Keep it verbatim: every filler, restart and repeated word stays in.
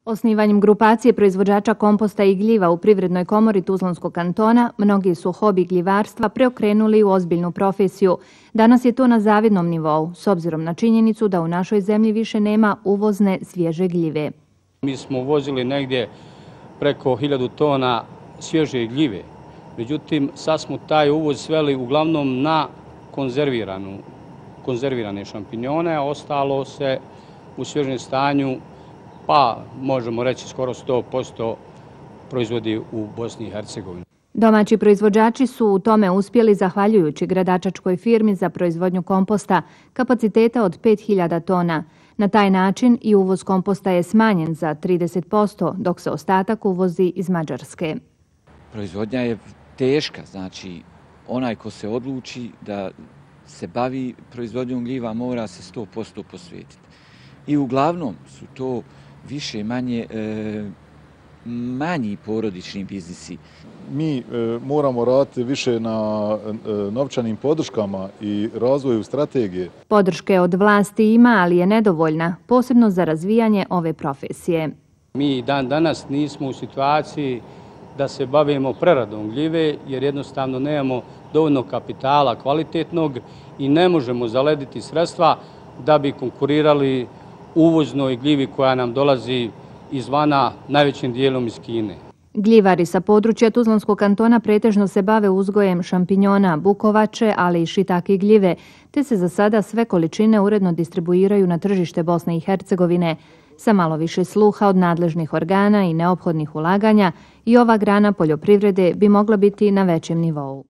Osnivanjem grupacije proizvođača komposta i gljiva u Privrednoj komori Tuzlanskog kantona, mnogi su hobi gljivarstva preokrenuli u ozbiljnu profesiju. Danas je to na zavidnom nivou, s obzirom na činjenicu da u našoj zemlji više nema uvozne svježe gljive. Mi smo uvozili negdje preko hiljadu tona svježe gljive. Međutim, sad smo taj uvoz sveli uglavnom na konzerviranu, konzervirane šampinjone, a ostalo se u svježem stanju, pa možemo reći skoro sto posto proizvodi u Bosni i Hercegovini. Domaći proizvođači su u tome uspjeli zahvaljujući gradačačkoj firmi za proizvodnju komposta kapaciteta od pet hiljada tona. Na taj način i uvoz komposta je smanjen za trideset posto, dok se ostatak uvozi iz Mađarske. Proizvodnja je teška, znači onaj ko se odluči da se bavi proizvodnjom gljiva mora se sto posto posvetiti. I uglavnom su to više manje e, manji porodični biznisi. Mi e, moramo raditi više na e, novčanim podrškama i razvoju strategije. Podrške od vlasti ima, ali je nedovoljna, posebno za razvijanje ove profesije. Mi dan danas nismo u situaciji da se bavimo preradom gljive, jer jednostavno nemamo dovoljno kapitala kvalitetnog i ne možemo zalediti sredstva da bi konkurirali uvoznoj gljivi koja nam dolazi izvana, najvećim dijelom iz Kine. Gljivari sa područja Tuzlanskog kantona pretežno se bave uzgojem šampinjona, bukovače, ali i šitake gljive, te se za sada sve količine uredno distribuiraju na tržište Bosne i Hercegovine. Sa malo više sluha od nadležnih organa i neophodnih ulaganja, i ova grana poljoprivrede bi mogla biti na većem nivou.